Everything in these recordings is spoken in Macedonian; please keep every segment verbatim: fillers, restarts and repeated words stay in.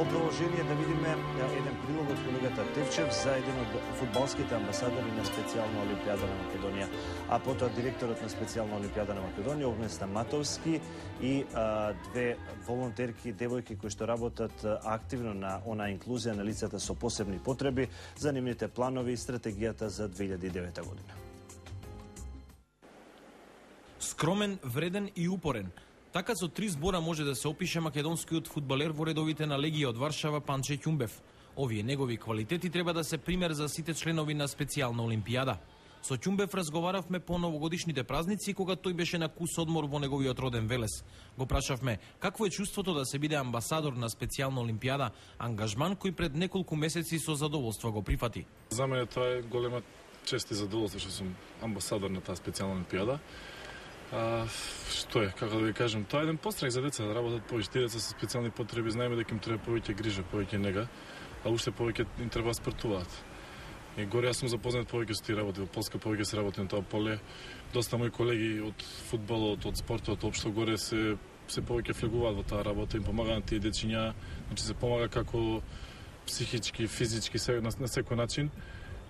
Во продолжение да видиме еден прилог од колегата Тевчев за еден од фудбалските амбасадори на специјална Олимпијада на Македонија, а потоа директорот на специјална Олимпијада на Македонија Огнен Стаматовски и а, две волонтерки, девојки кои што работат активно на она инклузија на лицата со посебни потреби за нивните планови и стратегијата за две илјади и девета година. Скромен, вреден и упорен. Така со три збора може да се опише македонскиот фудбалер во редовите на Легија од Варшава Панче Ќумбев. Овие негови квалитети треба да се пример за сите членови на специјална Олимпијада. Со Ќумбев разговаравме по новогодишните празници кога тој беше на кус одмор во неговиот роден Велес. Го прашавме какво е чувството да се биде амбасадор на специјална Олимпијада, ангажман кој пред неколку месеци со задоволство го прифати. За мене тоа е голема чест и задоволство што сум амбасадор на таа специјална Олимпијада. А, што е, како да ви кажем, тоа е еден пострек за деца да работат повеќе. Тие деца со специјални потреби знаеме дека им треба повеќе грижа, повеќе нега, а уште повеќе им треба спортуваат. И горе јас сум запознат повеќе со тие работи, во Полска повеќе се работи на тоа поле. Доста мои колеги од фудбалот, од спортот, општо горе се се повеќе флегуваат во таа работа, им помагаат тие дечиња, значи се помага како психички, физички, се, на, на секој начин.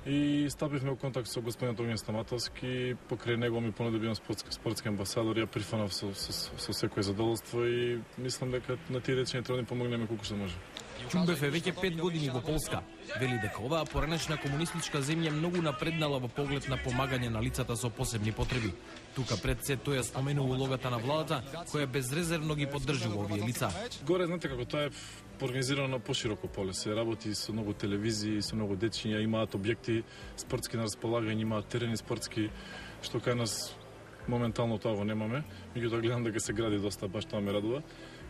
И стапивме во контакт со господинот Огнен Стаматовски, покрај него ми понуди да бидам спортски, спортски амбасадор, ја прифанав со, со, со секој задоволство и мислам дека на тие дечиња треба да им помогнеме колку што може. Ќумбев е веќе пет години во Полска. Вели дека оваа поранешна комунистичка земја многу напреднала во поглед на помагање на лицата со посебни потреби. Тука пред се тој ја споменува улогата на владата, која безрезервно ги поддржува овие лица. Горе, знаете како, тоа е организирано на пошироко поле. Се работи со многу телевизии, со многу дечиња, имаат објекти спортски на располагање, имаат терени спортски, што кај нас моментално тоа го немаме. Меѓутоа гледам дека се гради доста, баш тоа ме радува.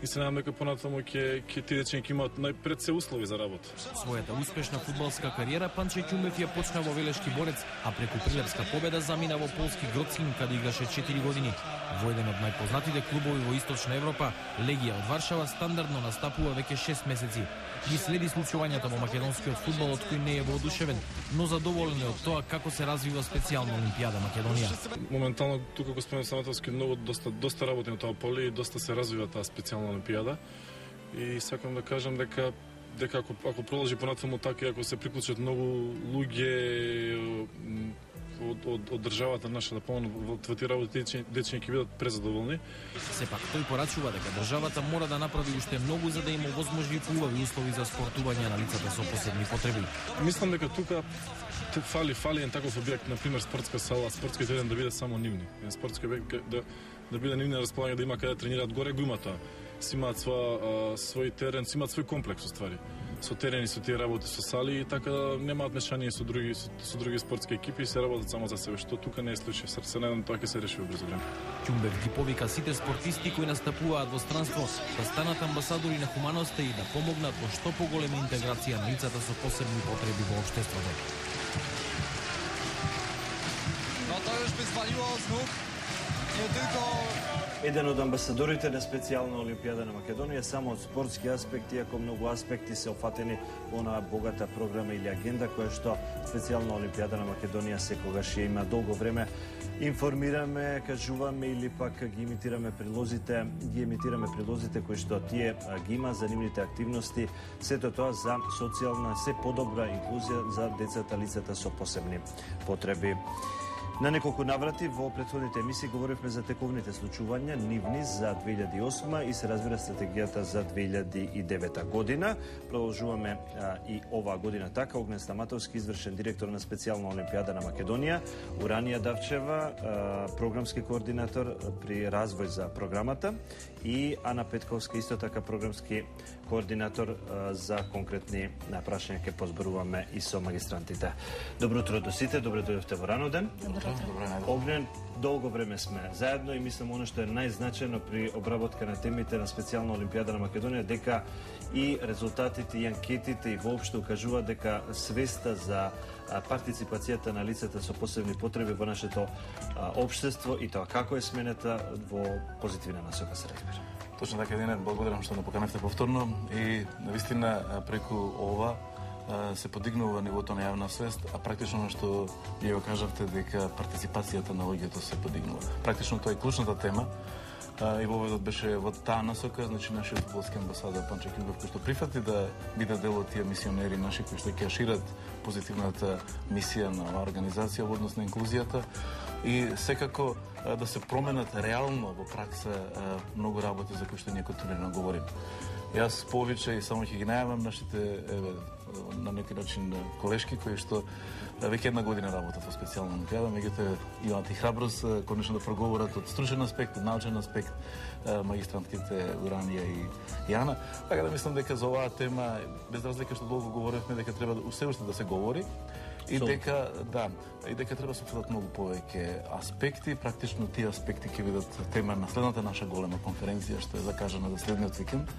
И се надам дека понатаму ќе ќе тие дечиња ќе имаат најпред се услови за работа. Својата успешна фудбалска кариера Панче Ќумбев ја почна во Велешки Борец, а преку Прилепска победа замина во полски Гроцин, каде играше четири години. Во еден од најпознатите клубови во Источна Европа, Легија од Варшава стандардно настапува веќе шест месеци. Ги следи случувањата во македонскиот фудбал, од кој не е воодушевен, но задоволен е од тоа како се развива специјална Олимпијада Македонија. Моментално тука господин Саматовски многу доста доста работи на тоа поле и доста се развива таа специјална Олимпијада. И сакам да кажам дека дека ако ако продолжи понатаму така и ако се приклучат многу луѓе од, од, од државата наша да помогнат во тие работи, дечиња ќе бидат презадоволни. Сепак тој порачува дека државата мора да направи уште многу за да им овозможи убави услови за спортување на лицата со посебни потреби. Мислам дека тука фали фали еден таков објект, на пример спортска сала, спортски терен да биде само нивни. Еден спортски објект да да биде нивни на располагање, да има каде да тренираат, горе го има тоа. Си имаат своја свој терен, си имаат свој комплекс уствари. Со терени, со тие работи со сали и така немаат мешање со други со, со други спортски екипи и се работат само за себе, што тука не е случај. Се надам тоа ќе се реши во брзо време. Ќумбев ги повика сите спортисти кои настапуваат во странство да станат амбасадори на хуманоста и да помогнат во што поголема интеграција на лицата со посебни потреби во општеството. No to już by zwaliło znów nie tylko Еден од амбасадорите на специјална Олимпијада на Македонија само од спортски аспекти, иако многу аспекти се офатени во онаа богата програма или агенда која што специјална Олимпијада на Македонија секогаш ја има. Долго време информираме, кажуваме или пак ги имитираме прилозите, ги емитираме прилозите кои што тие ги има за нивните активности, сето тоа за социјална, се подобра инклузија за децата, лицата со посебни потреби. На неколку наврати во претходните емисии говоривме за тековните случувања нивни за две илјади и осма и се разбира стратегијата за две илјади и девета година. Продолжуваме а, и оваа година така. Огнен Стаматовски, извршен директор на специјална Олимпијада на Македонија, Уранија Давчева, а, програмски координатор при развој за програмата и Ана Петковска, исто така програмски координатор а, за конкретни прашања ќе позборуваме и со магистрантите. Добро утро до сите, добро дојдовте во рано ден. Огнен, долго време сме заедно и мислам оно што е најзначајно при обработка на темите на специјална Олимпијада на Македонија дека и резултатите и анкетите и воопшто укажуваат дека свеста за партиципацијата на лицата со посебни потреби во нашето општество и тоа како е сменета во позитивна насока се разбира. Точно така, Денет, благодарам што ме поканевте повторно и навистина преку ова се подигнува нивото на јавна свест, а практично што вие го кажавте дека партиципацијата на луѓето се подигнува. Практично тоа е клучната тема и воведот беше во таа насока, значи нашиот фудбалски амбасадор Панче Ќумбев кој што прифати да биде дел од тие мисионери наши кои што ќе шират позитивната мисија на оваа организација во однос на инклузијата и секако да се променат реално во пракса многу работи за кои што ние континуирано говориме. Јас повеќе и само ќе ги најавам нашите еве, на некој начин колешки кои што веќе една година работат во специјална олимпијада, меѓутоа имаат и храброст конечно да проговорат од стручен аспект, од научен аспект, магистрантките Уранија и Јана. Така да мислам дека за оваа тема, без разлика што долго говоревме, дека треба уште уште да се говори. И дека, да, и дека треба да се обсудат многу повеќе аспекти, практично тие аспекти ќе бидат тема на следната наша голема конференција што е закажана за следниот викенд.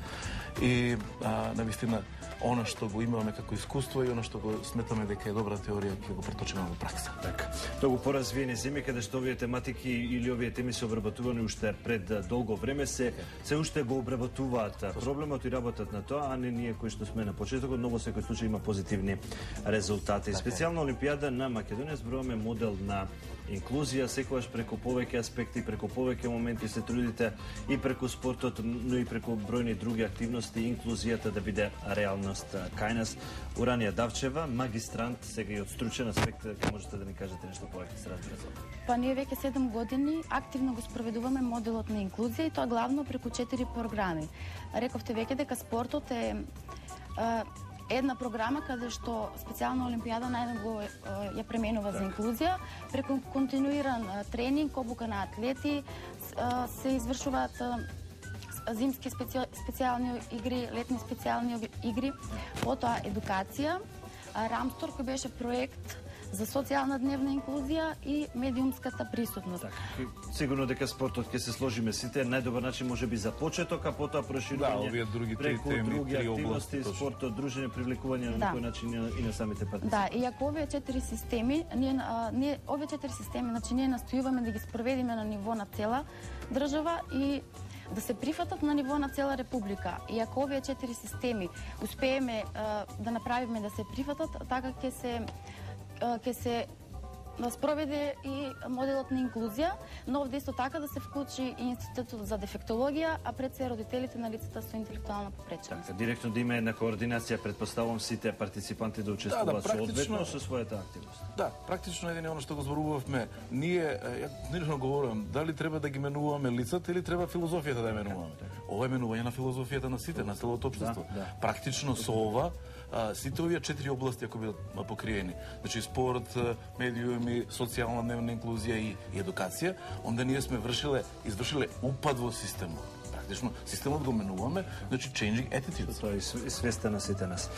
И а, навистина она што го имаме како искуство и она што го сметаме дека е добра теорија ќе го преточиме во пракса. Така. Многу поразвиени земји каде што овие тематики или овие теми се обработувани уште пред долго време се се уште го обработуваат проблемот и работат на тоа, а не ние кои што сме на почетокот, но во секој случај има позитивни резултати. Специјална олимпијада на Македонија зборуваме модел на инклузија, секогаш преку повеќе аспекти, преку повеќе моменти се трудите и преку спортот, но и преку бројни други активности, инклузијата да биде реалност кај нас. Уранија Давчева, магистрант, сега и од стручен аспект, ќе можете да ни кажете нешто повеќе се разбира за ова? Па ние веќе седум години активно го спроведуваме моделот на инклузија и тоа главно преку четири програми. Рековте веќе дека спортот е една програма каде што специјална олимпијада најдобро ја пременува за инклузија, преку континуиран тренинг, обука на атлети, се извршуваат зимски специјални игри, летни специјални игри, потоа едукација, Рамстор кој беше проект за социјална дневна инклузија и медиумската присутност. Так, сигурно дека спортот ќе се сложиме сите најдобар начин можеби за почеток, а потоа проширување да, овие други преку теми, други три активности, области, спортот, дружење, привлекување на да. некој начин и на самите партнери. Да, и ако овие четири системи, ние, а, ние овие четири системи, значи ние настојуваме да ги спроведиме на ниво на цела држава и да се прифатат на ниво на цела република. И ако овие четири системи успееме а, да направиме да се прифатат, така ќе се ќе се спроведе и моделот на инклузија, но овде исто така да се вклучи и Институтот за дефектологија, а пред се родителите на лицата со интелектуална попреченост. Така, директно да има една координација, предпоставам сите партиципанти да учествуваат да, да, соодветно со својата активност. Да, практично едини оно што го зборувавме, ние ја нелично говорам, дали треба да ги менуваме лицата или треба филозофијата да ја менуваме. Ова е менување на филозофијата на сите, на целото општество. Да, да. Практично со ова а, сите овие четири области ако бидат покриени, значи спорт, медиуми, социјална дневна инклузија и, и едукација, онда ние сме вршиле, извршиле упад во системот. Практично системот го менуваме, значи changing attitudes. Тоа е свеста на сите нас.